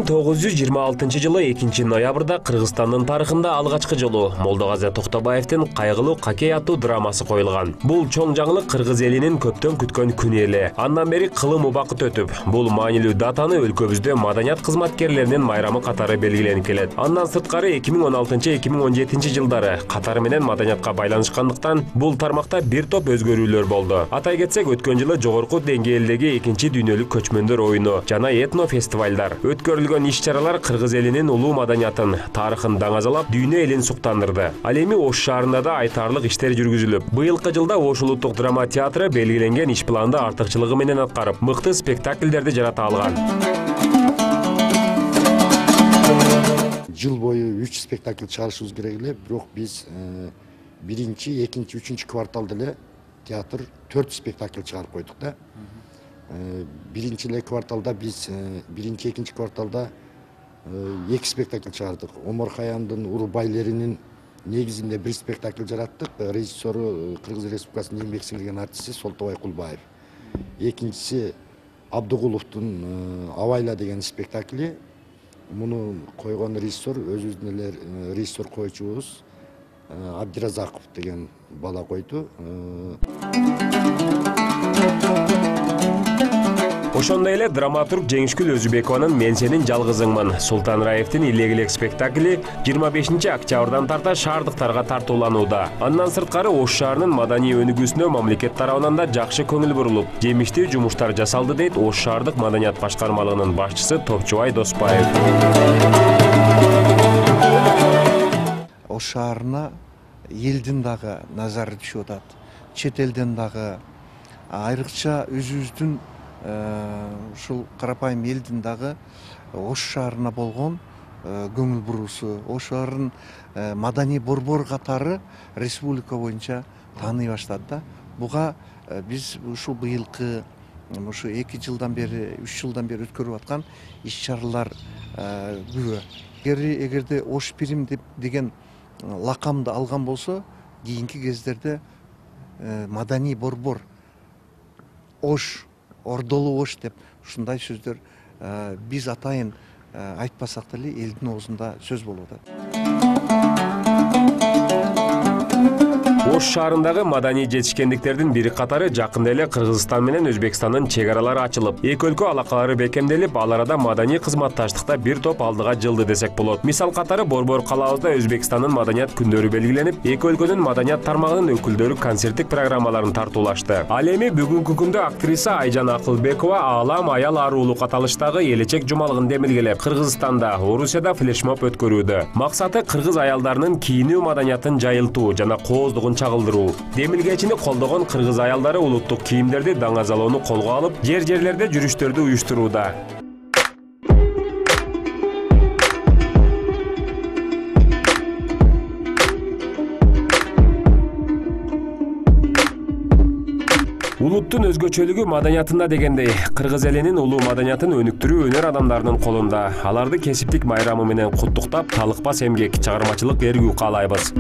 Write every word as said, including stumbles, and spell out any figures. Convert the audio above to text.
миң тогуз жүз жыйырма алтынчы жылы экинчи ноябрда Кыргызстандын тарыхында алгачкы жолу Молдогазе Токтобаевдин кайгылуу Кокей аттуу драмасы коюлган. Бул чоң жаңылык кыргыз элинин көптөн күткөн күнү эле. Андан бери кылым убакыт өтүп, бул маанилүү датаны өлкөбүздө маданият кызматкерлеринин майрамы катары белгиленип келет. Андан сырткары эки миң он алтынчы эки миң он жетинчи жылдары катары менен маданиятка байланышкандыктан бул тармакта бир топ өзгөрүүлөр болду. Атай кетсек, өткөн жылы жогорку деңгээлдеги экинчи дүйнөлүк көчмөндөр оюну жана этно фестивалдар өткөрүлгөн иш-чаралар кыргыз элинин улуу маданиятын, тарыхын даңазалап, дүйнө элин суктандырды. Ал эми Ош шаарында да айтарлык иштер жүргүзүлүп, быйылкы жылда Ош улуттук драма театры белгиленген иш планды артыкчылыгы менен аткарып, мыкты спектакльдерди жарата алган. Жыл бою үч спектакль чыгарышыбыз керек эле, бирок биз биринчи, экинчи, үчүнчү кварталда эле театр төрт спектакль чыгарып койдук да. Биринчи эле кварталда биз биринчи, экинчи кварталда эки спектакль чыгардык. Омар Каяндын Урбайлеринин негизинде бир спектакль жараттык. Режиссеру Кыргыз Республикасынын еңбек сиңирген артисти Солтобай Кулбаев. Экинчиси Абдыгуловдун Авайла деген спектакли. Муну койгон режиссер өзүбүздүн эле режиссер коючубуз Абдиразаков деген бала койду. Ошондой эле драматург Жеңишгүл Өзүбекованын Мен сенин жалгызыңмын, Султан Раевдин Илек-илек спектакли жыйырма бешинчи октябрдан тарта шаардыктарга тартууланууда. Андан сырткары Ош шаарынын маданий өнүгүүсүнө мамлекет тарабынан да жакшы көңүл бурулуп, жемиштүү жумуштар жасалды дейт Ош шаардык маданият башкармалыгынын башчысы Топчубай Доспаев. Ош шаарына элдин дагы назары түшүп атат. Чет элден дагы, айрыкча өзүбүздүн ушул карапайым элдин дагы Ош шаарына болгон көңүл буруусу, Ош шаарынын маданий борбор катары республика боюнча тааный баштады да. Буга биз ушул быйылкы ушу эки жылдан бери, үч жылдан бери өткөрүп аткан иш-чаралар күбө. Эгерде Ош Пирим деген лакамды алган болсо, кийинки кездерде маданий борбор Ош, Ордолу Ош деп ушундай сөздөр биз атайын айтпасак деле элдин оозунда сөз болуп атат. Ош шаарындагы маданий жетишкендиктердин бири катары жакында эле Кыргызстан менен Өзбекстандын чек аралары ачылып, эки өлкө алакалары бекемделип, ал арада маданий кызматташтыкта бир топ алдыга жылды десек болот. Мисал катары Борбор калаабызда Өзбекстандын маданият күндөрү белгиленип, эки өлкөнүн маданият тармагынын өкүлдөрү концерттик программаларын тартуулашты. Ал эми бүгүнкү күндө актриса Айжан Акылбекова Аалам аял аарулук аталыштагы Элечек жумалыгын демилгелеп, Кыргызстанда, Орусияда флешмоб өткөрүүдө. Максаты кыргыз аялдарынын кийинүү маданиятын жайылтуу жана кооздугун чагылдыруу. Демилгечини колдогон кыргыз аялдары улуттук кийимдерди даңазалоону колго алып, жер-жерлерде жүрүштөрдү уюштурууда. Улуттун өзгөчөлүгү маданиятында дегендей, кыргыз элинин улуу маданиятын өнүктүрүү өнөр адамдарынын колунда. Аларды кесиптик майрамы менен куттуктап, талыкпас эмгек, чыгармачылык эргүү каалайбыз.